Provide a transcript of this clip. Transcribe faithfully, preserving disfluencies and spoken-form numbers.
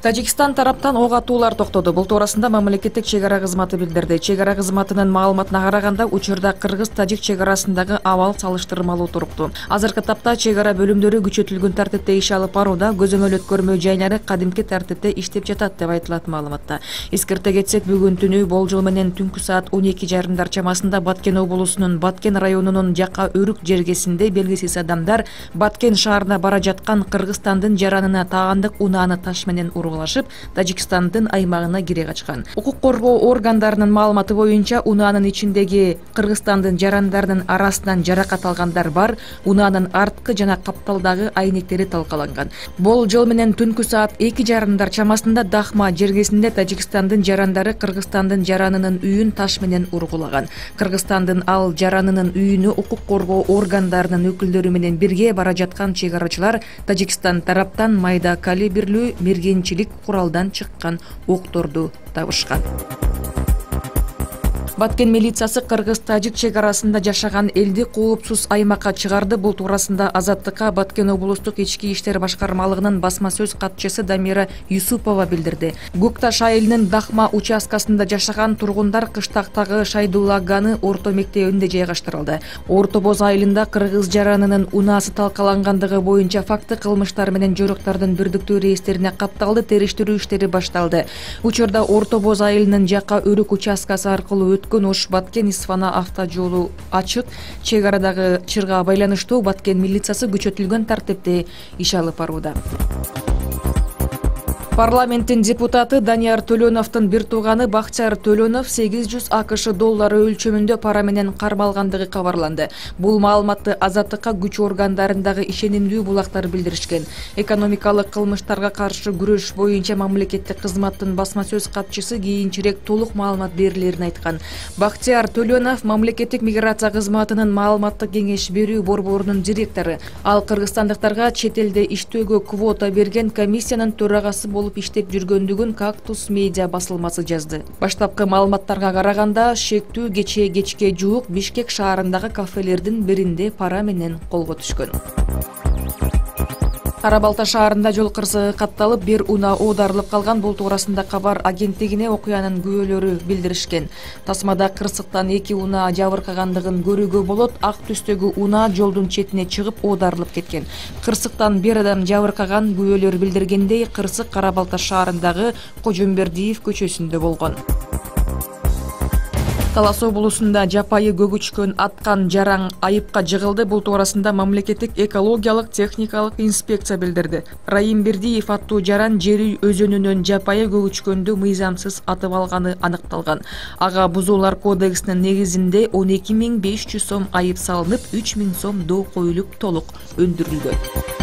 Тажикстан тараптан ок атуулар токтоду. Бул туурасында мамлекеттик чек ара кызматы билдирди. Чек ара кызматынын маалыматына караганда, учурда кыргыз-тажик чек арасындагы абал салыштырмалуу туруктуу. Азыркы тапта чек ара бөлүмдөрү күчөтүлгөн тартипте иш алып барууда, көзөмөл өткөрмө жайлары кадимки тартипте иштеп жатат деп айтылат маалыматта. Эскерте кетсек, бүгүн түнү болжол менен түнкү саат он эки жарымдар чамасында Баткен облусунун Баткен районунун Жака Өрүк жергесинде белгисиз адамдар Баткен шаарына бара жаткан Кыргызстандын жаранына тагандык унааны таш менен ургулашып, Тажикстандын аймагына кире качкан. Укук коргоо органдарынын маалыматы боюнча, унаанын ичиндеги Кыргызстандын жарандарынын арасынан жаракат алгандар бар. Унаанын арткы жана капталдагы айнектери талкаланган. Болжол менен түнкү саат эки жарымдар чамасында Дахма жергесинде Тажикстандын жарандары Кыргызстандын жаранынын үйүн таш менен ургулаган. Кыргызстандын ал жаранынын үйүнө укук коргоо органдарынын өкүлдөрү менен бирге бара жаткан чек арачылар Тажикстан тараптан майда калибрлүү мергенчилик куралдан чыккан окторду табышкан. Баткен милициясы кыргыз-тажик чек арасында жашаган элди коопсуз аймакка чыгарды. Бул туурасында Азаттыкка Баткен облустук ички иштер башкармалыгынын басма сөз катчысы Дамира Юсупова билдирди. Гукташ айылынын Дахма участкасында жашаган тургундар кыштактагы Шайдуллаганы орто мектебинде жайгаштырылды. Орто Боз айылында кыргыз жаранынын унаасы талкалангандыгы боюнча факты кылмыштар менен жоруктардын бирдиктүү реестерине катталды. Териштирүү иштери башталды. Учурда Орто Боз айылынын Жака Өрүк участкасы аркылуу өткөн Ош Баткен Исфана автожолу ачык. Чек арадагы чырга байланыштуу Баткен милициясы күчөтүлгөн тартипте иш алып барууда. Парламенттин депутаты Данияр Төлөновдун бир тууганы Бакчар Төлөнов сегиз жүз АКШ доллары өлчөмүндө пара менен кармалгандыгы кабарланды. Бул маалыматты Азаттыкка күч органдарындагы ишенимдүү булактар билдиришкен. Экономикалык кылмыштарга каршы күрөш боюнча мамлекеттик кызматтын басма сөз катчысы кийинчерээк толук маалымат берилерин айткан. Бакчар Төлөнов мамлекеттик миграция кызматынын маалыматтык кеңеш берүү борборунун директору. Ал кыргызстандыктарга чет элде иштөөгө квота берген комиссиянын төрагасы болуп иштеп жүргөндүгүн Кактус медиа басылмасы жазды. Баштапкы маалыматтарга караганда, шектүү кечээ кечке жуук Бишкек шаарындагы кафелердин биринде пара менен колго түшкөн. Кара Балта шаарында жол кырсыгы катталып, бир унаа оодарылып калган. Бул туурасында кабар агенттигине окуянын күбөлөрү билдиришкен. Тасмада кырсыктан эки унаа жабыркагандыгын көрүүгө болот. Ак түстөгү унаа жолдун четине чыгып оодарылып кеткен. Кырсыктан бир адам жабыркаган. Күбөлөр билдиргендей, кырсык Кара Балта шаарындагы Кожомбердиев көчөсүндө болгон. Талас облусунда жапайы көгүчкөн аткан жаран айыпка жыгылды. Бул туурасында мамлекеттик экологиялык техникалык инспекция билдирди. Раим Бердиев аттуу жаран Жери өзөнүнөн жапайы көгүчкөндү мыйзамсыз атып алганы аныкталган. Ага бузуулар кодексинин негизинде он эки миң беш жүз сом айып салынып, үч миң сом доо коюлуп толук өндүрүлгөн.